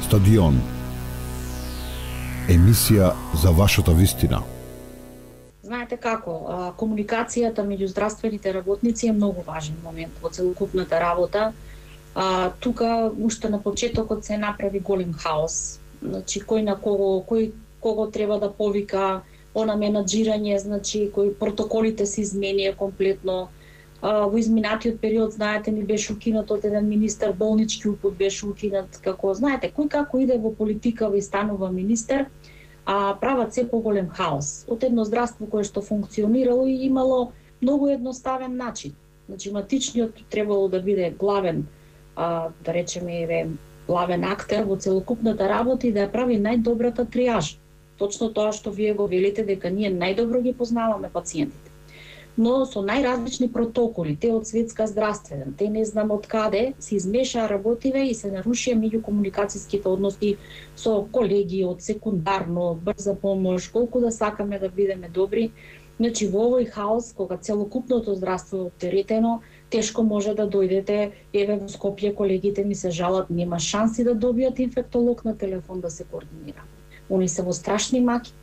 Стадион. Емисија за вашата вистина. Знаете како, комуникацијата меѓу здравствените работници е многу важен момент во целокупната работа. Тука уште на почетокот се направи голем хаос. Значи кој на кого треба да повика, она менаџирање, значи кои протоколите се изменија комплетно. Во изминатиот период, знаете, ни беше укинат од еден министер, болнички упут беше укинат, како знаете, кој како иде во политика и станува министер, прават се поголем хаос. Од едно здравство кое што функционирало и имало многу едноставен начин. Значи матичниот требало да биде главен, да речеме, главен актер во целокупната работа и да ја прави најдобрата триажа. Точно тоа што вие го велите, дека ние најдобро ги познаваме пациентите. Но со најразлични протоколи, те од светска здравствена, те не знам од каде, се измешаа работиве и се нарушија меѓукомуникацијските односи со колеги од секундарно, брза помош, колку да сакаме да бидеме добри. Значи во овој хаос, кога целокупното здравство е оптеретено, тешко може да дојдете, еве во Скопје колегите ми се жалат, нема шанси да добијат инфектолог на телефон да се координира. Они се во страшни маки.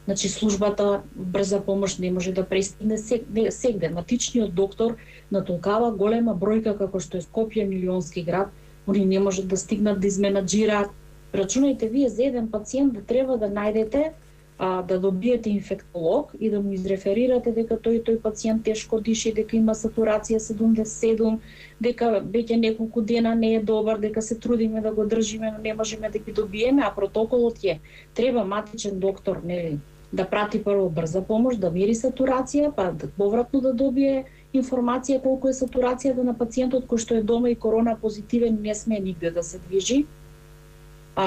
Значи службата брза помош не може да пристигне сегде. Матичниот доктор на толкава голема бројка како што е Скопје, милионски град, они не можат да стигнат да изменаџираат. Рачунајте вие за еден пациент да треба да најдете да добиете инфектолог и да му изреферирате дека тој пациент тешко диши, дека има сатурација 77, дека веќе неколку дена не е добар, дека се трудиме да го држиме, но не можеме да ги добиеме, а протоколот е треба матичен доктор, нели, да прати прво брза помош, да мери сатурација, па повратно да добие информација колку е сатурацијата на пациентот кој што е дома и корона позитивен, не сме нигде да се движи,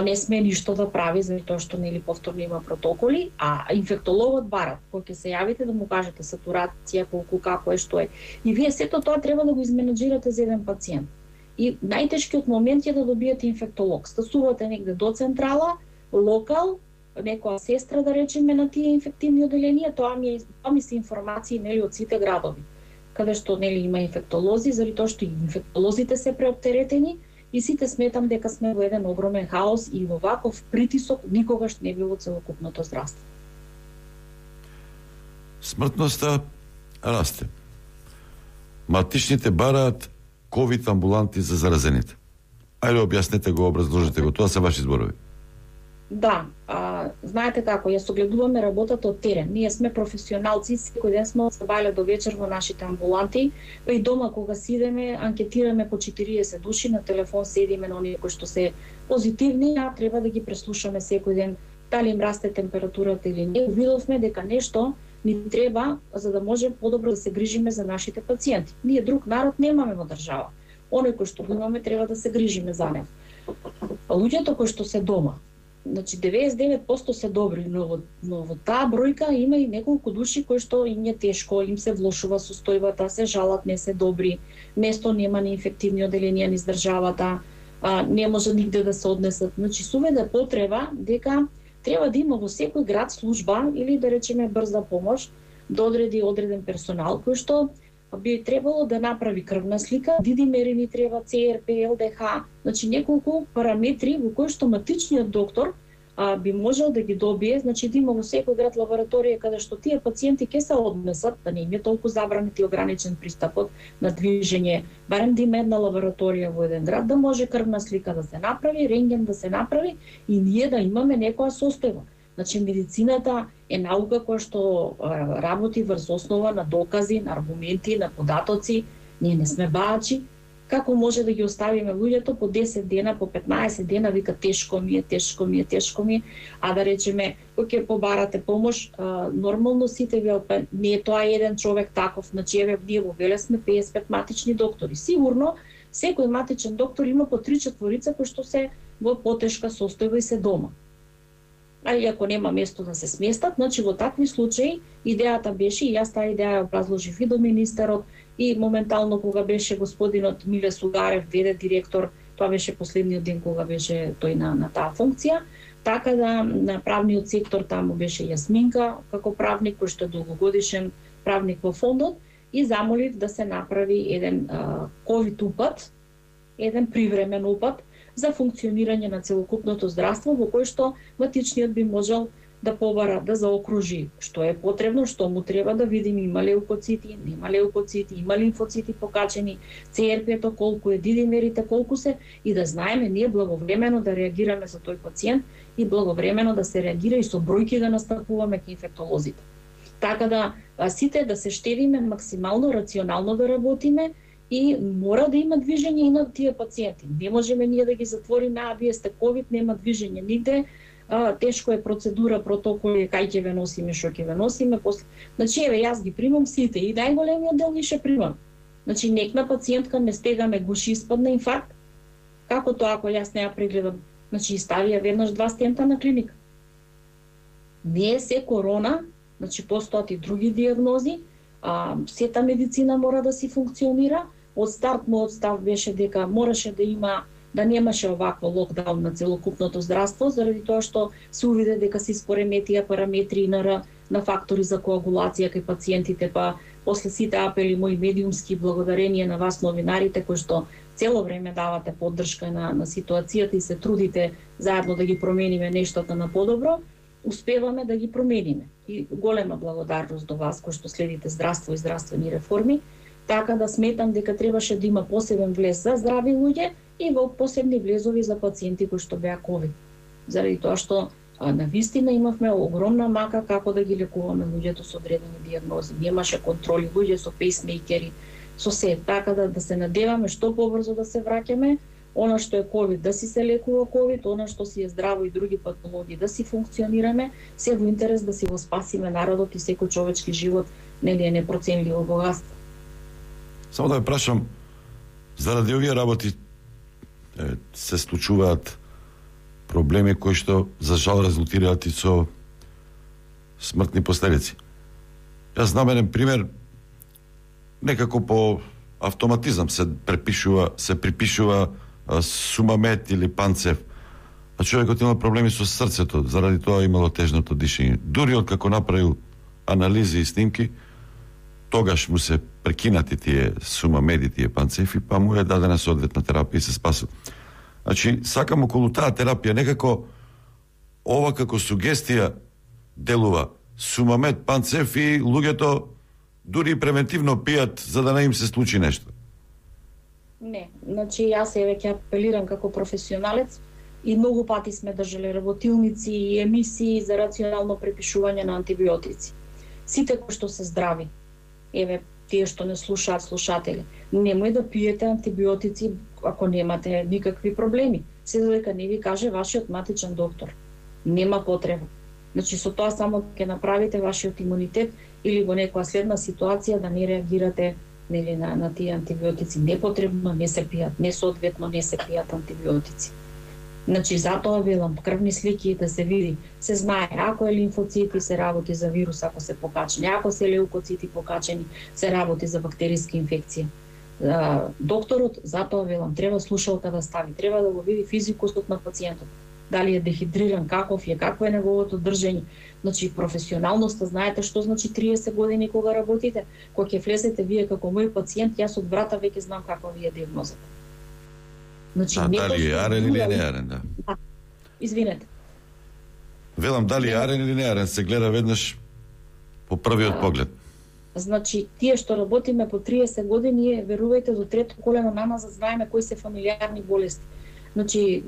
не сме ништо да прави, затоа што нели повторно има протоколи, а инфектологот барат, кој ќе се јавите да му кажете сатурација, колку, како е, што е. И вие сето тоа треба да го изменаџирате за еден пациент. И најтешкиот момент е да добиете инфектолог. Стасувате негде до централа, локал, некоја сестра да речеме на тие инфективни оделенија, тоа ми се информации нели од сите градови, каде што нели има инфектолози, заради тоа што и инфектолозите се преоптеретени и сите сметам дека сме во еден огромен хаос и во ваков притисок никогаш не било целокупното здравство. Смртноста расте. Матичните бараат ковид амбуланти за заразените. Ајде објаснете го, образложете го, тоа се ваши зборови. Да, знаете како, ја согледуваме работата од терен. Ние сме професионалци, секој ден сме се бајле до вечер во нашите амбуланти, па и дома кога си идеме, анкетираме по 40 души, на телефон седиме на оние кои што се позитивни, а треба да ги преслушаме секој ден дали им расте температурата или не. Увидовме дека нешто ни треба за да може подобро да се грижиме за нашите пациенти. Ние друг народ немаме во држава. Оној кој што го имаме треба да се грижиме за нив. Луѓето кои што се дома, значи 99% се добри, но во таа бројка има и неколку души кои што им е тешко, им се влошува состојбата, се жалат, не се добри, место нема ни инфективни оделенија низ државата, не може нигде да се однесат. Значи суведе потреба дека треба да има во секој град служба или да речеме брза помош, да одреди одреден персонал кој што би требало да направи крвна слика, дидимери ни треба, ЦРП, ЛДХ, значи неколку параметри во кои што матичниот доктор би можел да ги добие, значи да има во секој град лабораторија каде што тие пациенти ќе се однесат, да не им е толку забранет и ограничен пристапот на движење, барем да има една лабораторија во еден град, да може крвна слика да се направи, рентген да се направи и ние да имаме некоја состојба. Значи медицината е наука која што работи врз основа на докази, на аргументи, на податоци. Ние не сме баачи. Како може да ги оставиме луѓето по 10 дена, по 15 дена, вика тешко ми е, а да речеме, кој ќе побарате помош, нормално сите ви, не е тоа еден човек таков, значи еве ние во Велес сме 55 матични доктори. Сигурно, секој матичен доктор има по 3-4 кои што се во потешка состојба и се дома. А и ако нема место да се сместат, значи во такви случаи идејата беше, и јас таа идеја ја образложив и до министерот, и моментално кога беше господинот Миле Сугарев, ВД директор, тоа беше последниот ден кога беше тој на таа функција, така да на правниот сектор таму беше Јасминка како правник, кој што е долгогодишен правник во фондот, и замолив да се направи еден ковид упат, еден привремен упат, за функционирање на целокупното здравство, во кој што матичниот би можел да побара, да заокружи што е потребно, што му треба да видим има леукоцити, нема леукоцити, има лимфоцити покачени, ЦРП-то колку е, дидимерите колку се, и да знаеме ние благовремено да реагираме за тој пациент и благовремено да се реагира и со бројки да настапуваме кај инфектолозите. Така да сите да се штедиме максимално рационално да работиме и мора да има движење и на тие пациенти. Не можеме ние да ги затвориме, вие сте ковид, нема движење нигде. Тешко е процедура, протоколи, кај ќе ве носиме, што ќе ве носиме, после. Значи, еве, јас ги примам сите и најголемиот дел ги ше примам. Значи, некна пациентка ме стегаме гуши, испадна инфаркт. Како тоа, ако јас не ја прегледам? Значи, ставија веднаш 2 стента на клиника. Не е се корона, значи, постојат и други диагнози, сета медицина мора да си функционира. Од старт мојот став беше дека мораше да има, да немаше овакво локдаун на целокупното здравство, заради тоа што се увиде дека се испореметија параметри на фактори за коагулација кај пациентите, па после сите апели мои медиумски, благодарение на вас новинарите кои што цело време давате поддршка на ситуацијата и се трудите заедно да ги промениме нештата на подобро, успеваме да ги промениме. И голема благодарност до вас кои што следите здравство и здравствени реформи, така да сметам дека требаше да има посебен влез за здрави луѓе и во посебни влезови за пациенти кои што беа ковид. Заради тоа што навистина имавме огромна мака како да ги лекуваме луѓето со одредени диагнози. Немаше контроли, луѓе со пейсмейкери, со се. Така да се надеваме што побрзо да се враќаме, она што е ковид да си се лекува ковид, она што си е здраво и други патологии да си функционираме, се во интерес да си го спасиме народот и секој човечки живот, нели е непроценливо богатство. Само да ве прашам, заради овие работи се случуваат проблеми кои што за жал резултираат и со смртни последици. Јас знам еден пример, некако по автоматизам се припишува Сумамет или Панцев, а човекот има проблеми со срцето, заради тоа имало тежното дишење. Дури откако направил анализи и снимки, тогаш му се прекинати тие Сумамеди, тие Панцефи, па му е дадена соодветна терапија и се спасил. Значи, сакам околу таа терапија некако ова како сугестија делува. Сумамет, Панцеф и луѓето дури превентивно пијат за да не им се случи нешто. Не, значи јас еве ќе апелирам како професионалец и многу пати сме држале работилници и емисии за рационално препишување на антибиотици. Сите кои што се здрави, еве тие што не слушаат слушатели, немој да пиете антибиотици ако немате никакви проблеми, се додека не ви каже вашиот матичен доктор. Нема потреба. Значи со тоа само ќе направите вашиот имунитет или во некоја следна ситуација да не реагирате нели на тие антибиотици. Непотребно не се пијат, несоодветно не се пијат антибиотици. Значи затоа велам крвни слики да се види, се знае ако е лимфоцити се работи за вирус ако се покачени, ако се леукоцити покачени се работи за бактериска инфекција. Докторот затоа велам треба слушалка да стави, треба да го види физикусот на пациентот. Дали е дехидриран, каков е, какво е неговото држење. Значи професионалноста, знаете што значи 30 години кога работите, кога ќе влезете вие како мој пациент, јас од врата веќе знам каква ви е диагнозата. Значи дали е арен или не арен, да. Извинете. Велам дали е арен или не арен, се гледа веднаш по првиот поглед. Значи, тие што работиме по 30 години, верувајте, до трето колено нама знаеме кои се фамилиарни болести. Значи,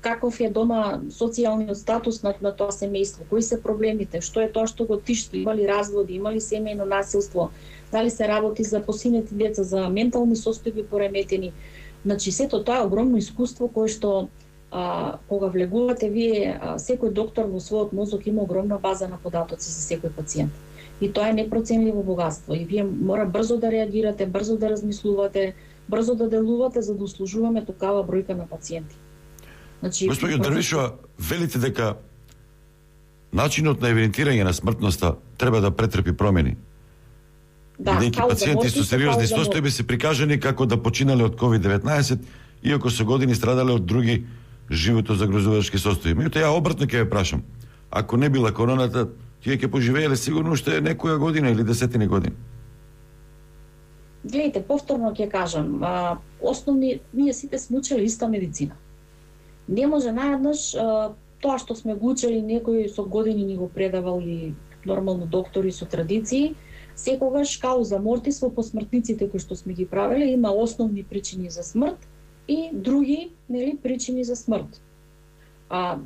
каков е дома социјалниот статус на тоа семејство, кои се проблемите, што е тоа што го тишти, има ли разводи, има ли семејно насилство, дали се работи за посинети деца, за ментални состојби пореметени. Значи, сето тоа е огромно искуство кое што кога влегувате вие, секој доктор во својот мозок има огромна база на податоци за секој пациент. И тоа е непроценливо богатство. И вие мора брзо да реагирате, брзо да размислувате, брзо да делувате за да услужуваме такава бројка на пациенти. Значи, Господи Дрвишова, велите дека начинот на евидентирање на смртноста треба да претрпи промени. Да, бидејќи пациенти со сериозни состојби се прикажани како да починале од COVID-19, иако со години страдале од други живото загрозувачки состојби. Меѓутоа ја обратно ќе ве прашам. Ако не била короната, тие ќе поживееле сигурно уште некоја година или десетини години. Гледайте, повторно ќе кажам, ние сите сме учели иста медицина. Не може наеднаш тоа што сме го учели некој со години ни го предавал и нормално доктори со традиции, секогаш кауза мортис во посмртниците кои што сме ги правеле има основни причини за смрт и други, нели, причини за смрт.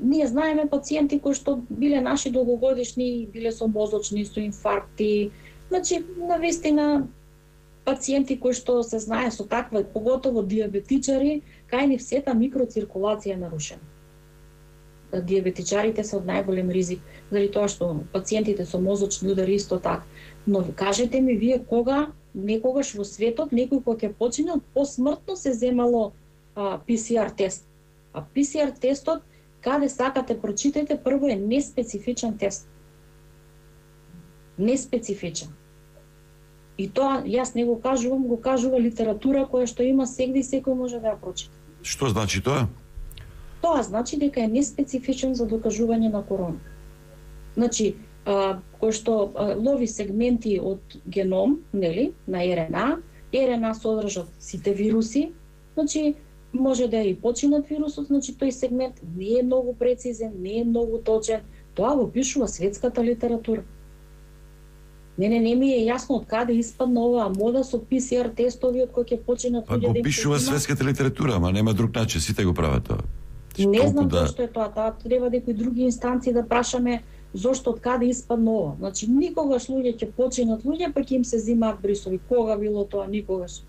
Ние знаеме пациенти кои што биле наши долгогодишни, биле со мозочни, со инфаркти, значи навистина пациенти кои што се знае со таква, поготово диабетичари, кај нив сета микроциркулација е нарушена. Диабетичарите се од најголем ризик, заради тоа што пациентите со мозочни удари исто така. Но кажете ми вие кога некогаш во светот некој кој ќе почине посмртно се земало PCR тест. А PCR тестот, каде сакате прочитајте, прво е неспецифичен тест. Неспецифичен. И тоа јас не го кажувам, го кажува литература која што има сегде и секој може да ја прочита. Што значи тоа? Тоа значи дека е неспецифичен за докажување на корона. Значи, кој што лови сегменти од геном, нели, на РНА, РНА содржат сите вируси, значи може да е и починат вирусот, значи тој сегмент не е многу прецизен, не е многу точен, тоа го пишува светската литература. Не ми е јасно од каде испадна оваа мода со PCR тестови од кои ќе починат луѓе. Го пишува светската литература, ама нема друг начин, сите го прават тоа. Не знам зашто е тоа, треба некои други инстанции да прашаме зошто од каде испадна ова. Значи никогаш луѓе ќе починат луѓе, па ќе им се земаат брисови. Кога било тоа? Никогаш.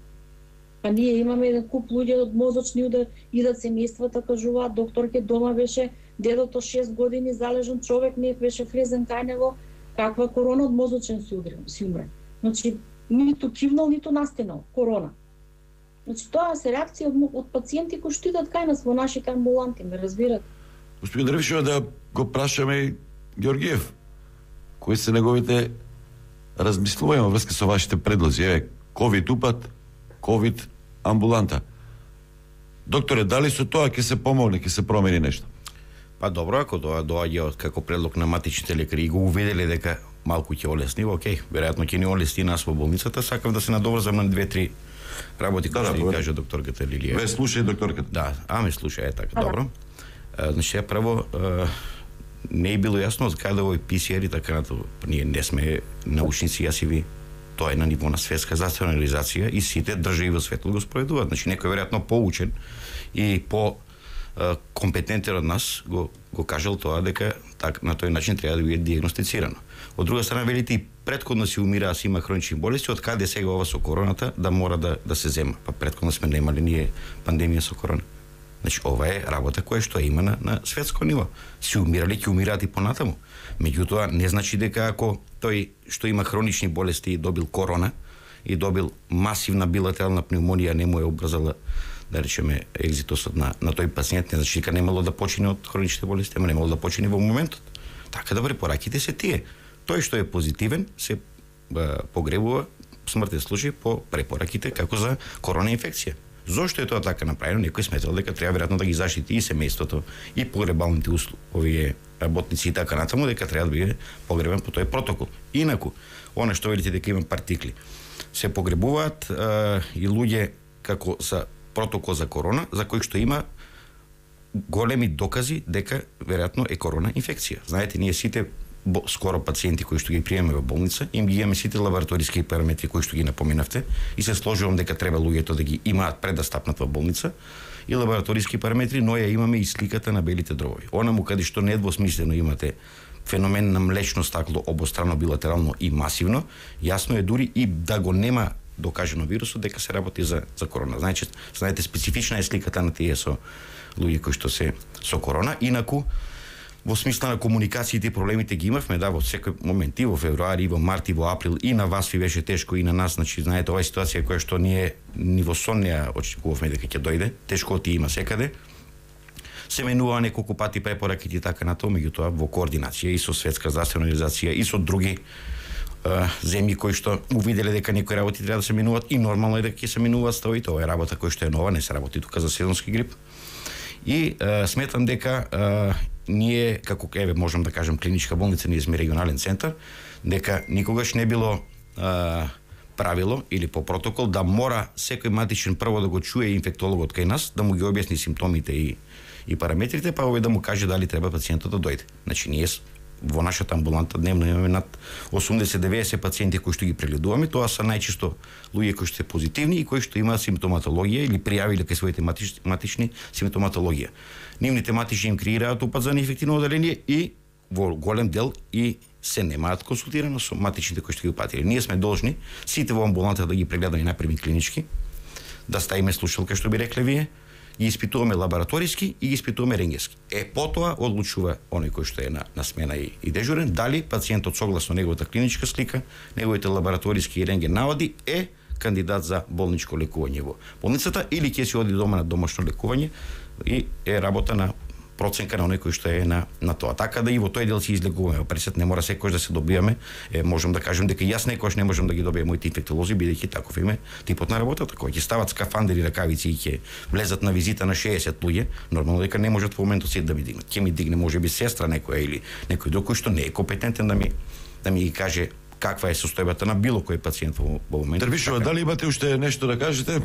Па ние имаме еден куп луѓе од мозочни удар, идат семејствата, кажуваат докторке дома беше дедото 6 години залежен човек, не беше влезен кај него, каква корона од мозочен си умре. Значи ниту кивнал, ниту настинал, корона. Значи тоа се реакција од пациенти кои што идат кај нас во нашите амбуланти, ме разбират. Господин Дрвишева, да го прашаме Георгиев, кои се неговите размислувања во врска со вашите предлози? Еве, ковид упат, ковид амбуланта. Докторе, дали со тоа ќе се помогне, ќе се промени нешто? Па добро, ако тоа доаѓа како предлог на матичните лекари и го уведеле дека малку ќе олесни, окей, веројатно ќе ни олесни нас во болницата, сакам да се надоврзам на 2-3 работи кои што ги кажа докторката Лилија. Ве слушај докторката. Да, ме слушај, така, добро. Значи, прво, не е било јасно од каде овој PCR и така натаму. Ние не сме научници, јас и ви. Тоа е на ниво на светска здравствена организација и сите држави во светот го спроведуваат. Значи, некој веројатно поучен и по компетентен од нас го кажал тоа дека на тој начин треба да биде диагностицирано. Од друга страна, велите и претходно си умираа, си има хронични болести, од каде сега ова со короната да мора да се зема. Па претходно сме немале ние пандемија со корона. Значи, ова е работа која што има на светско ниво. Си умирали, ќе умираат и понатаму. Меѓутоа, не значи дека ако тој што има хронични болести и добил корона и добил масивна билатерална пневмонија, не му е обрзала, да речеме, екзитосот на тој пациент, не значи дека немало да почине од хроничните болести, ама немало да почине во моментот. Така да препораките се тие. Тој што е позитивен се погребува смртен случај по препораките како за корона инфекција. Зошто е тоа така направено? Некој сметал дека треба веројатно да ги заштити и семејството, и погребалните овие работници и така натаму, дека треба да биде погребен по тој протокол. Инаку, она што велите дека има партикли, се погребуваат и луѓе како за протокол за корона, за кој што има големи докази дека веројатно е корона инфекција. Знаете, ние сите скоро пациенти кои што ги приемаме во болница, им ги имаме сите лабораториски параметри кои што ги напоменавте и се сложувам дека треба луѓето да ги имаат пред да стапнат во болница и лабораториски параметри, но ја имаме и сликата на белите дробови. Онаму каде што недвосмислено имате феномен на млечно стакло обострано, билатерално и масивно, јасно е дури и да го нема докажено вирусот дека се работи за корона. Знаете, специфична е сликата на тие со луѓе кои што се со корона. Инаку, во смисла на комуникациите и проблемите ги имавме, да, во секој момент, и во февруари, и во март, и во април, и на вас ви беше тешко, и на нас, значи, знаете, ова е ситуација која што ние ни во сон не очекувавме дека ќе дојде, тешко ти има секаде. Се менува неколку пати препораките и така натаму, меѓутоа во координација и со Светска здравствена организација и со други земји кои што увиделе дека некои работи треба да се менуваат и нормално е дека ќе се менуваат стави, тоа е работа која што е нова, не се работи тука за сезонски грип. И сметам дека ние, како можам да кажам клиничка болница, ние сме регионален центар, дека никогаш не било правило или по протокол да мора секој матичен прво да го чуе инфектологот кај нас, да му ги објасни симптомите и параметрите, па овој да му каже дали треба пациентот да дојде. Значи ние во нашата амбуланта дневно имаме над 80-90 пациенти кои што ги прегледуваме, тоа се најчесто луѓе кои што се позитивни и кои што имаат симптоматологија или пријавиле кај своите матични симптоматологија. Нивните матични им креираат упат за неефективно оделение и во голем дел и се немаат консултирано со матичните кои што ги упатиле. Ние сме должни сите во амбуланта да ги прегледаме напреми клинички, да ставиме слушалка што би рекле вие, ги испитуваме лабораториски и ги испитуваме рентгенски. Потоа одлучува оној кој што е на смена и дежурен, дали пациентот согласно неговата клиничка слика, неговите лабораториски и рентген наводи е кандидат за болничко лекување во болницата или ќе се оди дома на домашно лекување и е работа на проценка на оној кој што е на тоа. Така да и во тој дел се излегуваме. Пресет не мора секој да се добиваме. Можам да кажем дека јас некојаш не можам да ги добијам моите инфектолози, бидејќи таков име типот на работата. Кога ќе стават скафандери, ракавици и ќе влезат на визита на 60 луѓе, нормално дека не можат во моментот сите да ми дигнат. Ќе ми дигне можеби сестра некоја или некој друг кој што не е компетентен да ми ги каже каква е состојбата на било кој пациент во моментот. Тервишова, дали имате уште нешто да кажете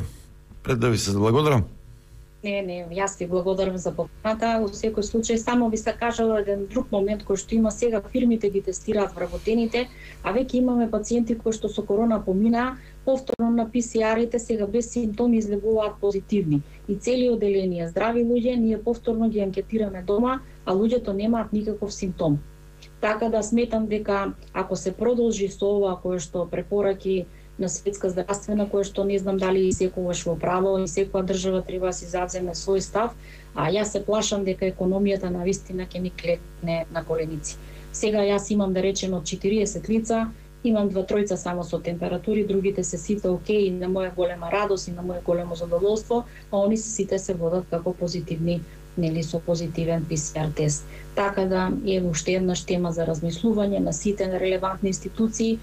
пред да ви се благодарам? Не, јас ви благодарам за поканата. Во секој случај само ви се кажала еден друг момент кој што има сега, фирмите ги тестираат вработените, а веќе имаме пациенти кои што со корона помина, повторно на PCR-ите сега без симптоми излегуваат позитивни. И цели оделенија здрави луѓе ние повторно ги анкетираме дома, а луѓето немаат никаков симптом. Така да сметам дека ако се продолжи со ова кое што препораки на Светска здравствена, кое што не знам дали секогаш во право и секоја држава треба да си завземе свој став, а јас се плашам дека економијата на вистина ќе ни клетне на коленици. Сега јас имам да речем од 40 лица, имам 2-3 само со температури, другите се сите окей, и на моја голема радост и на моје големо задоволство, а они сите се водат како позитивни, нели со позитивен PCR тест. Така да е уште една тема за размислување на сите релевантни институции,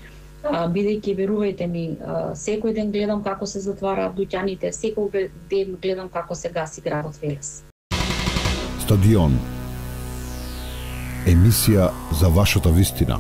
бидејќи верувајте ми, секој ден гледам како се затвараат дуќаните, секој ден гледам како се гаси градот Велес. Стадион. Емисија за вашата вистина.